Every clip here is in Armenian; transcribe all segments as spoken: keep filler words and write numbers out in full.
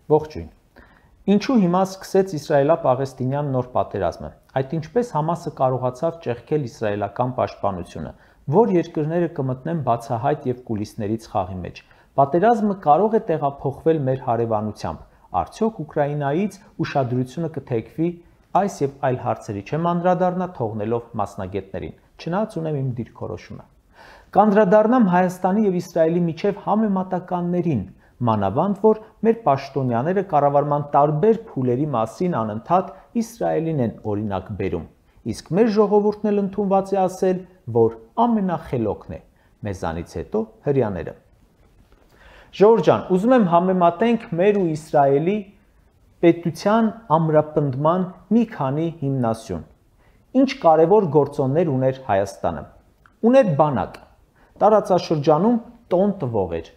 Ողջույն։ Ինչու հիմա սկսեց իսրայելա-պաղեստինյան նոր պատերազմը։ Այդ ինչպես Համասը կարողացավ ճեղքել իսրայելական պաշտպանությունը, որ երկրները կմտնեն բացահայտ եւ կուլիսներից խաղի մեջ։ Պատերազմը կարող է տեղափոխվել մեր հարևանությամբ։ Արդյոք Ուկրաինայից ուշադրությունը կթեքվի այս եւ այլ հարցերի չեմ անդրադառնա թողնելով մասնագետներին։ Չնայած ունեմ իմ դիրքորոշումը։ Կանդրադառնամ Հայաստանի եւ Իսրայելի միջև համեմատականներին, մանավանդ որ մեր պաշտոնյաները կառավարման տարբեր փուլերի մասին անընդհատ Իսրայելին են օրինակ բերում։ Իսկ մեր ժողովուրդն էլ ընդունված է ասել, որ ամենախելոքն է, մեզանից հետո հրյաները։ Ժողովուրդ ջան, ուզում եմ համեմատենք մեր ու Իսրայելի պետության ամրապնդման մի քանի հիմնասյուն։ Ինչ կարևոր գործոններ ուներ Հայաստանը։ Ուներ բանակ, տարածաշրջանում տոն տվող էր։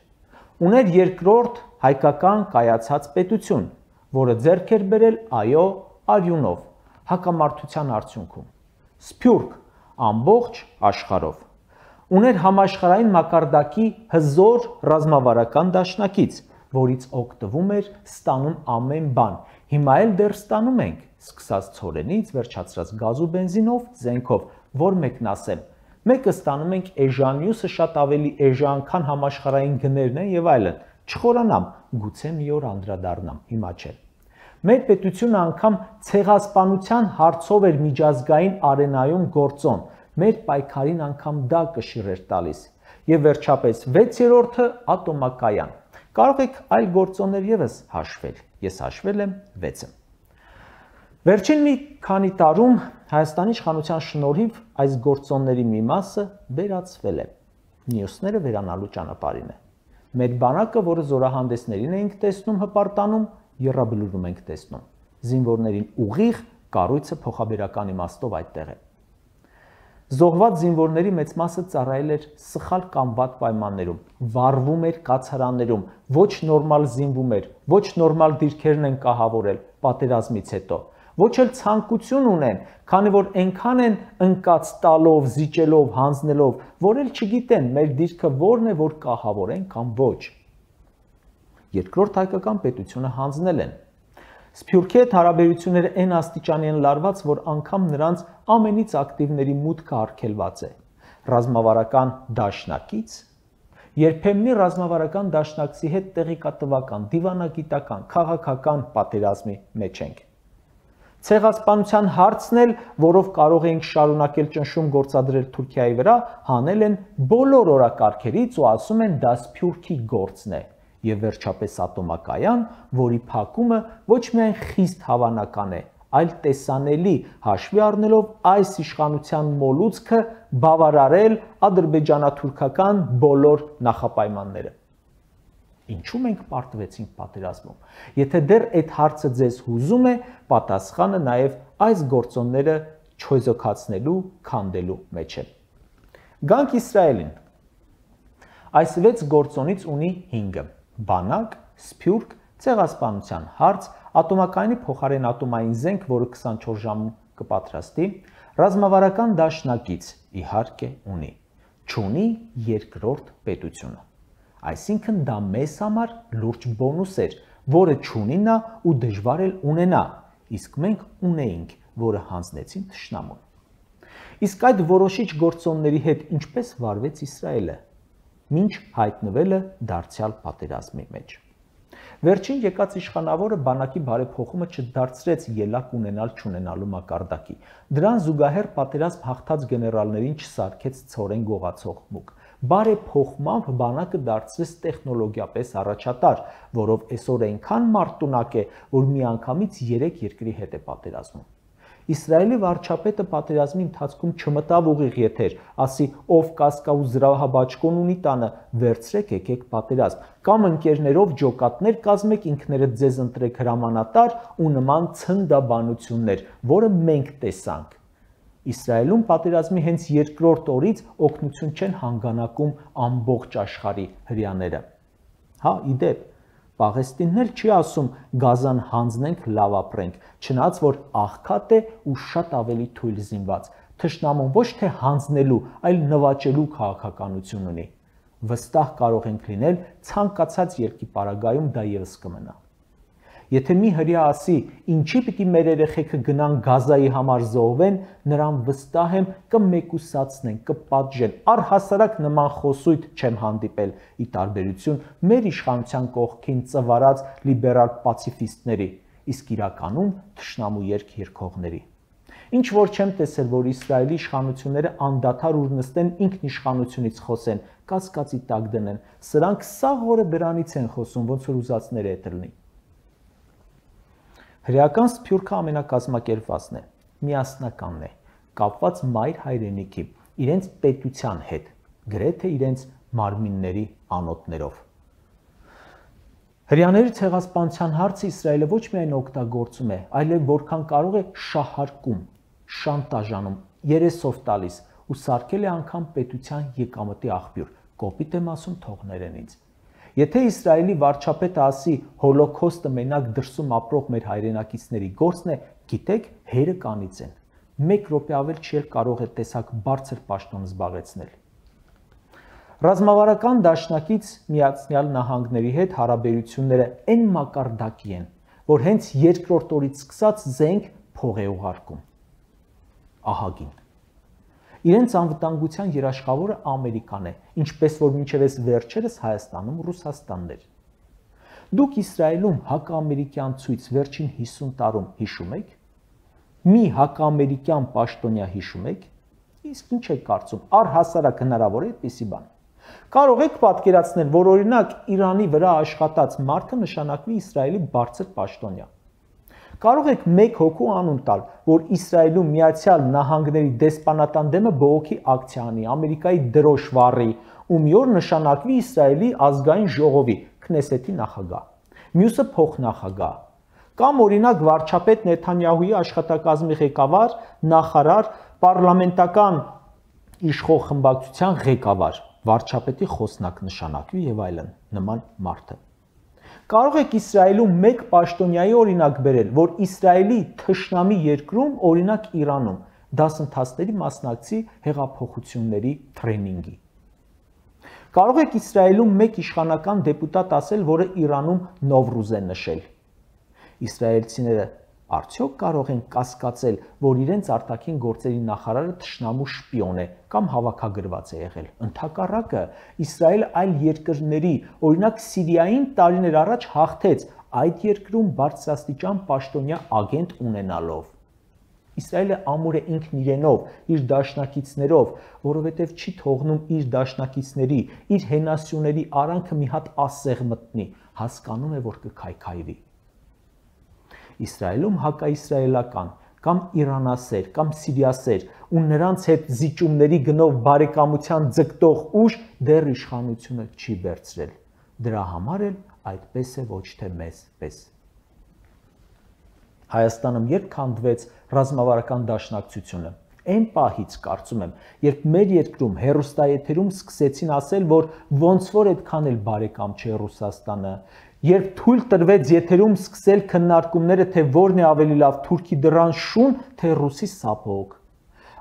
Ուներ երկրորդ հայկական կայացած պետություն, որը ձեռք էր բերել այո արյունով, հակամարտության արդյունքում։ Սփյուռք ամբողջ աշխարհով։ Ուներ համաշխարհային մակարդակի հզոր ռազմավարական դաշնակից, որից օգտվում էր ստանում ամեն բան։ Հիմա էլ դեռ ստանում ենք, սկսած ցորենից, վերջացրած գազ ու բենզինով, զենքով, որ մեկն ասեմ։ Մեկը ստանում ենք էժան, մյուսը շատ ավելի էժան, քան համաշխարհային գներն են եւ այլն։ Չխորանամ, գուցե մի օր անդրադառնամ, հիմա չէ։ Մեր պետությունը անգամ ցեղասպանության հարցով էր միջազգային արենայում գործոն։ Մեր պայքարին անգամ դա կշիռ էր տալիս։ Եվ վերջապես վեցերորդը ատոմակայան։ Կարող եք այլ գործոններ եւս հաշվել։ Ես հաշվել եմ վեցը։ Վերջին մի քանի տարում Հայաստանի իշխանության շնորհիվ այս գործոնների մի մասը վերացվել է։ Մյուսները վերանալու ճանապարհին է։ Մեր բանակը, որը զորահանդեսներին էինք տեսնում հպարտանում, եռաբլուրում ենք տեսնում։ Զինվորներին ուղիղ կառույցը փոխաբերական իմաստով այդտեղ է։ Զոհված զինվորների մեծ մասը ծառայել էր սխալ կամ վատ պայմաններում, վառվում էր կացարաններում, ոչ նորմալ զինվում էր, ոչ նորմալ դիրքերն են կահավորել պատերազմից հետո, ոչ էլ ցանկություն ունեն, քանի որ այնքան են ընկած տալով, զիջելով, հանձնելով, որ էլ չգիտեն մեր դիրքը որն է, որ կահավորեն կամ ոչ։ Երկրորդ հայկական պետությունը հանձնել են։ Սփյուռքի հետ հարաբերությունները այն աստիճանի են լարված, որ անգամ նրանց ամենից ակտիվների մուտքը արգելված է։ Ռազմավարական դաշնակից, երբեմնի ռազմավարական դաշնակցի հետ տեղեկատվական, դիվանագիտական, քաղաքական պատերազմի մեջ ենք։ Ցեղասպանության հարցն էլ, որով կարող էինք շարունակել ճնշում գործադրել Թուրքիայի վրա, հանել են բոլոր օրակարգերից ու ասում են դա Սփյուռքի գործն է։ Եվ վերջապես ատոմակայան, որի փակումը ոչ միայն խիստ հավանական է, այլ տեսանելի, հաշվի առնելով այս իշխանության մոլուցքը բավարարել ադրբեջանա-թուրքական բոլոր նախապայմանները։ Ինչու մենք պարտվեցինք պատերազմում։ Եթե դեռ այդ հարցը ձեզ հուզում է, պատասխանը նաև այս գործոնները չոյզոքացնելու, քանդելու մեջ է։ Գանք Իսրայելին։ Այս վեց գործոնից ունի հինգը. բանակ, սփյուռք, ցեղասպանության հարց, ատոմակայանի փոխարեն ատոմային զենք, որը քսանչորս ժամ կպատրաստի, ռազմավարական դաշնակից, իհարկե ունի, չունի երկրորդ պետությունը։ Այսինքն դա մեզ համար լուրջ բոնուս էր, որը չունի նա ու դժվար էլ ունենա, իսկ մենք ունեինք, որը հանձնեցին թշնամուն։ Իսկ այդ որոշիչ գործոնների հետ ինչպես վարվեց Իսրայելը, մինչ հայտնվելը դարձյալ պատերազմի մեջ։ Վերջին եկած իշխանավորը բանակի բարեփոխումը չդարձրեց ելակ ունենալ չունենալու մակարդակի։ Դրան զուգահեռ պատերազմ հաղթած գեներալներին չսարքեց ցորեն գողացող մուկ։ Բարեփոխմամբ բանակը դարձրեց տեխնոլոգիապես առաջատար, որով այսօր այնքան մարտունակ է, որ միանգամից երեք երկրի հետ է պատերազմում։ Իսրայելի վարչապետը պատերազմի ընթացքում չմտավ ուղիղ եթեր, ասի ով կասկա ու զրահաբաճկոն ունի տանը, վերցրեք եկեք պատերազմ, կամ ընկերներով ջոկատներ կազմեք, ինքներդ ձեզ ընտրեք հրամանատար ու նման ցնդաբանություններ, որը մենք տեսանք։ Իսրայելում պատերազմի հենց երկրորդ օրից օգնություն չեն հանգանակում ամբողջ աշխարհի հրյաները։ Հա, իդեպ, Պաղեստինն էլ չի ասում գազան հանձնենք, լավ ապրենք, չնայած որ աղքատ է ու շատ ավելի թույլ զինված։ Թշնամուն ոչ թե հանձնելու, այլ նվաճելու քաղաքականություն ունի։ Վստահ կարող ենք լինել ցանկացած երկրի պարագայում դա եւս կմնա։ Եթե մի հրյա ասի, ինչի պիտի մեր երեխեքը գնան Գազայի համար զոհվեն, նրան վստահ եմ կմեկուսացնեն, կպատժեն, առհասարակ նման խոսույթ չեմ հանդիպել, ի տարբերություն մեր իշխանության կողքին ծվարած լիբերալ պացիֆիստների, իսկ իրականում թշնամու երգ երգողների։ Ինչ որ չեմ տեսել, որ Իսրայելի իշխանությունները անդադար ուր նստեն ինքնիշխանությունից խոսեն, կասկածի տակ դնեն, սրանք սաղ օրը դրանից են խոսում, ոնց որ ուզածները հետ լինի։ Հրեական սփյուռքը ամենակազմակերպվածն է, միասնականն է, կապված մայր հայրենիքի, իրենց պետության հետ, գրեթե իրենց մարմինների անոթներով։ Հրեաների ցեղասպանության հարցը Իսրայելը ոչ միայն օգտագործում է, այլև որքան կարող է շահարկում, շանտաժանում, երեսով տալիս ու սարքել է անգամ պետության եկամտի աղբյուր, կոպիտ եմ ասում թողներեն ինձ։ Եթե Իսրայելի վարչապետը ասի հոլոքոստը մենակ դրսում ապրող մեր հայրենակիցների գործն է, գիտեք, հերը կանից են։ Մեկ րոպե ավել չի կարող է տեսակ բարձր պաշտոն զբաղեցնել։ Ռազմավարական դաշնակից Միացյալ Նահանգների հետ հարաբերությունները այն մակարդակի են, որ հենց երկրորդ օրից սկսած զենք փող է ուղարկում։ Ահագին։ Իրենց անվտանգության երաշխավորը Ամերիկան է, ինչպես որ մինչև այս վերջերս Հայաստանում Ռուսաստանն էր։ Դուք Իսրայելում հակաամերիկյան ցույց վերջին հիսուն տարում հիշում եք։ Մի հակաամերիկյան պաշտոնյա հիշում եք։ Իսկ ինչ եք կարծում, առհասարակ հնարավոր է այդպիսի բան։ Կարող եք պատկերացնել, որ օրինակ Իրանի վրա աշխատած մարդը նշանակվի Իսրայելի բարձր պաշտոնյա։ Կարող եք մեկ հոգու անուն տալ, որ Իսրայելում Միացյալ Նահանգների դեսպանատան դեմը բողոքի ակցիա անի, Ամերիկայի դրոշ վառի, ու մի օր նշանակվի Իսրայելի ազգային ժողովի, Քնեսեթի նախագահ, մյուսը փոխնախագահ, կամ օրինակ վարչապետ Նեթանյահուի աշխատակազմի ղեկավար, նախարար, պարլամենտական իշխող խմբակցության ղեկավար, վարչապետի խոսնակ նշանակվի եւ այլն նման մարդը։ Կարող եք Իսրայելում մեկ պաշտոնյայի օրինակ բերել, որ Իսրայելի թշնամի երկրում, օրինակ Իրանում, դասընթացների մասնակցի հեղափոխությունների տրեյնինգի։ Կարող եք Իսրայելում մեկ իշխանական դեպուտատ ասել, որը Իրանում Նովրուզ է նշել։ Իսրայելցիները արդյոք կարող են կասկածել, որ իրենց արտաքին գործերի նախարարը թշնամու շպիոն է կամ հավաքագրված է եղել։ Ընդհակառակը, Իսրայելը այլ երկրների, օրինակ Սիրիային տարիներ առաջ հաղթեց այդ երկրում բարձրաստիճան պաշտոնյա ագենտ ունենալով։ Իսրայելը ամուր է ինքն իրենով, իր դաշնակիցներով, որովհետև չի թողնում իր դաշնակիցների, իր հենասյուների արանքը մի հատ ասեղ մտնի, հասկանում է, որ կքայքայվի։ Իսրայելում հակաիսրայելական կամ իրանասեր կամ սիրիասեր ու նրանց հետ զիջումների գնով բարեկամության ձգտող ուժ դեռ իշխանությունը չի վերցրել։ Դրա համար էլ այդպես է ոչ թե մեզ պես։ Հայաստանում երբ քանդվեց ռազմավարական դաշնակցությունը, այն պահից կարծում եմ, երբ մեր երկրում հեռուստաեթերում սկսեցին ասել, որ ոնց որ այդքան էլ բարեկամ չէ Ռուսաստանը, երբ թույլ տրվեց եթերում սկսել քննարկումները, թե որն է ավելի լավ թուրքի դռան շուն, թե ռուսի սափոկ։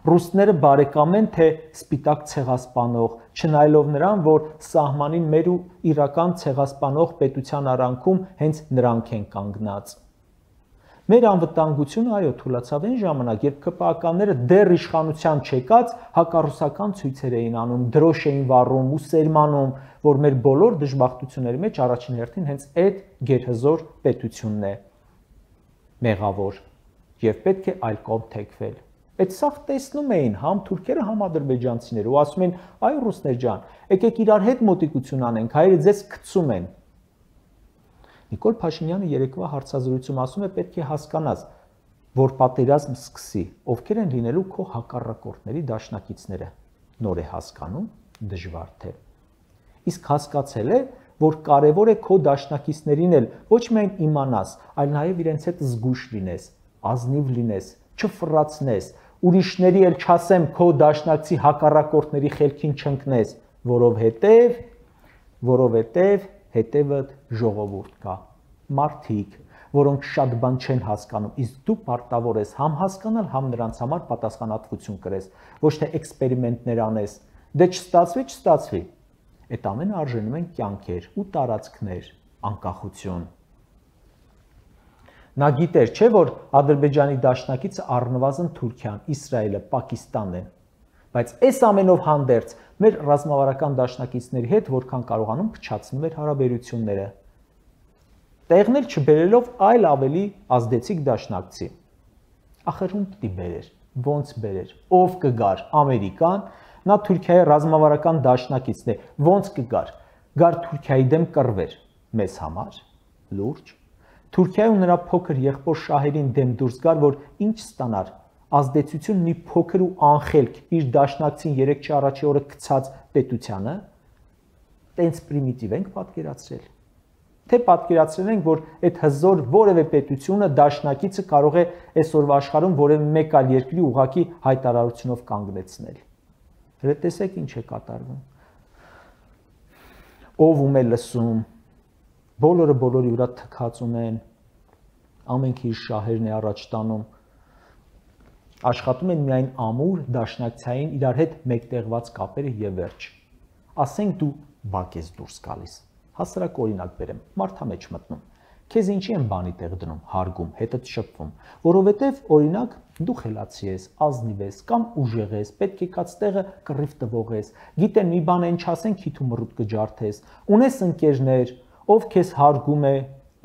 Ռուսները բարեկամ են, թե սպիտակ ցեղասպանող, չնայելով նրան, որ սահմանին մեր ու իրական ցեղասպանող պետության արանքում հենց նրանք են կանգնած։ Մեր անվտանգությունը, այո, թուլացավ այն ժամանակ, երբ ԿՊԱ-ականները դեռ իշխանության չեկած հակառուսական ցույցեր էին անում, դրոշ էին վառում ու սերմանում, որ մեր բոլոր դժբախտությունների մեջ առաջին հերթին հենց այդ գերհզոր պետությունն է մեղավոր եւ պետք է այլ կողմ թեքվել։ Այդ սաղ տեսնում էին համ թուրքերը, համ ադրբեջանցիները ու ասում են, այ ռուսներ ջան, եկեք իրար հետ մոտիկություն անենք, հայերը ձեզ գցում են։ Նիկոլ Փաշինյանը երեկվա հարցազրույցում ասում է, պետք է հասկանաս, որ պատերազմ սկսի, ովքեր են լինելու քո հակառակորդների դաշնակիցները։ Նոր է հասկանում, դժվար թե։ Իսկ հասկացել է, որ կարևոր է քո դաշնակիցներին էլ ոչ միայն իմանաս, այլ նաև իրենց հետ զգույշ լինես, ազնիվ լինես, չֆռացնես, ուրիշների էլ չասեմ քո դաշնակցի հակառակորդների խելքին չընկնես, որովհետև, որովհետև հետևդ ժողովուրդ կա, մարդիկ, որոնք շատ բան չեն հասկանում, իսկ դու պարտավոր ես համ հասկանալ, համ նրանց համար պատասխանատվություն կրես, ոչ թե էքսպերիմենտներ անես, դե չստացվի, չստացվի, այդ ամենը արժանում են կյանքեր ու տարածքներ, անկախություն։ Նա գիտեր, չէ՞ որ Ադրբեջանի դաշնակիցը առնվազն Թուրքիան, Իսրայելը, Պակիստանն են։ Բայց այս ամենով հանդերձ մեր ռազմավարական դաշնակիցների հետ որքան կարողանում փչացնում էր հարաբերությունները։ Տեղն էլ չբերելով այլ ավելի ազդեցիկ դաշնակցի։ Ախր ում պիտի բերեր, ոնց բերեր, ով կգար, Ամերիկան, նա Թուրքիայի ռազմավարական դաշնակիցն է, ոնց կգար, գար Թուրքիայի դեմ կռվեր, մեզ համար, լուրջ։ Թուրքիայի ու նրա փոքր եղբոր շահերին դեմ դուրս գար, որ ինչ ստանար, ազդեցություն մի փոքր ու անխելք իր դաշնակցին երեքշաբթի առաջի օրը գցած պետությանը, տենց պրիմիտիվ ենք պատկերացրել։ Թե պատկերացրել ենք, որ այդ հզոր որևէ պետությունը դաշնակիցը կարող է այսօրվա աշխարհում որևէ մեկ այլ երկրի ուղակի հայտարարությունով կանգնեցնել։ Հենց տեսեք ինչ է կատարվում։ Ով ում է լսում, բոլորը բոլորի վրա թքած ունեն, ամենքը իր շահերն է առաջ տանում, աշխատում են միայն ամուր դաշնակցային իրար հետ մեկտեղված կապերը եւ վերջ։ Ասենք դու բակ ես դուրս գալիս։ Հասարակ օրինակ բերեմ, մարդամեջ մտնում։ Քեզ ինչի են բանի տեղ դնում, հարգում, հետդ շփվում, որովհետև օրինակ դու խելացի ես, ազնիվ ես կամ ուժեղ ես, պետք է կաց տեղը կռիվ տվող ես, գիտեն մի բան են չասեն, քիթ ու մռուտ կջարդես, ունես ընկերներ, ով քեզ հարգում է,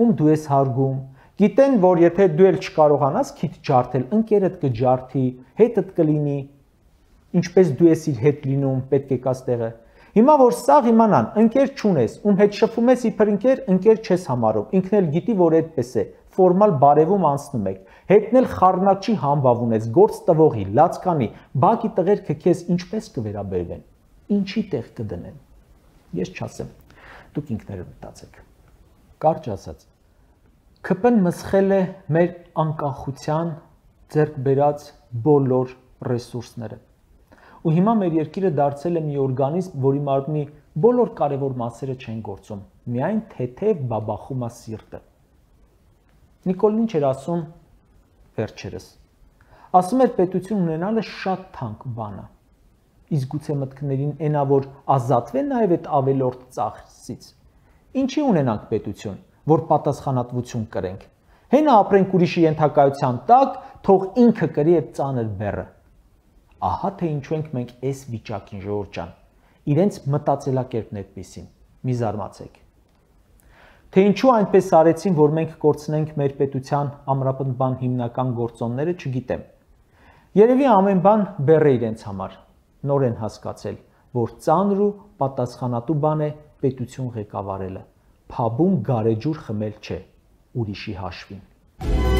ում դու ես հարգում, գիտեն, որ եթե դու էլ չկարողանաս քիթ ջարդել, ընկերդ կջարդի, հետդ կլինի, ինչպես դու ես իր հետ լինում, պետք է կաց տեղը։ Հիմա որ սաղ իմանան, ընկեր չունես, ում հետ շփում ես իբր ընկեր, ընկեր չես համարում, ինքն էլ գիտի, որ այդպես է, ֆորմալ բարևում անցնում եք, հետն էլ խառնակչի համբավ ունես, գործ տվողի, լացկանի, բակի տղերքը քեզ ինչպես կվերաբերվեն, ինչի տեղ կդնեն։ Ես չասեմ, դուք ինքներդ մտածեք։ Կարճ ասած, ՔՊ-ն մսխել է մեր անկախության ձեռք բերած բոլոր ռեսուրսները։ Ու հիմա մեր երկիրը դարձել է մի օրգանիզմ, որի մարմնի բոլոր կարևոր մասերը չեն գործում, միայն թեթև բաբախում է սիրտը։ Նիկոլին ինչ էր ասում վերջերս։ Ասում էր պետություն ունենալը շատ թանկ բան է։ Իսկ գուցե մտքներին այնա, որ ազատվեն նաև այդ ավելորդ ծախսից։ Ինչի ունենանք պետություն, որ պատասխանատվություն կրենք։ Հենա ապրենք ուրիշի ենթակայության տակ, թող ինքը կրի այդ ծանր բեռը։ Ահա թե ինչու ենք մենք այս վիճակին, ժողովուրդ ջան, իրենց մտածելակերպն այդպեսին, մի զարմացեք։ Թե ինչու այնպես արեցին, որ մենք կորցնենք մեր պետության ամրապնդման հիմնական գործոնները, չգիտեմ։ Երևի ամեն բան բեռ է իրենց համար, նոր են հասկացել, որ ծանր ու պատասխանատու բան է պետություն ղեկավարելը, փաբում գարեջուր խմել չէ, ուրիշի հաշվին։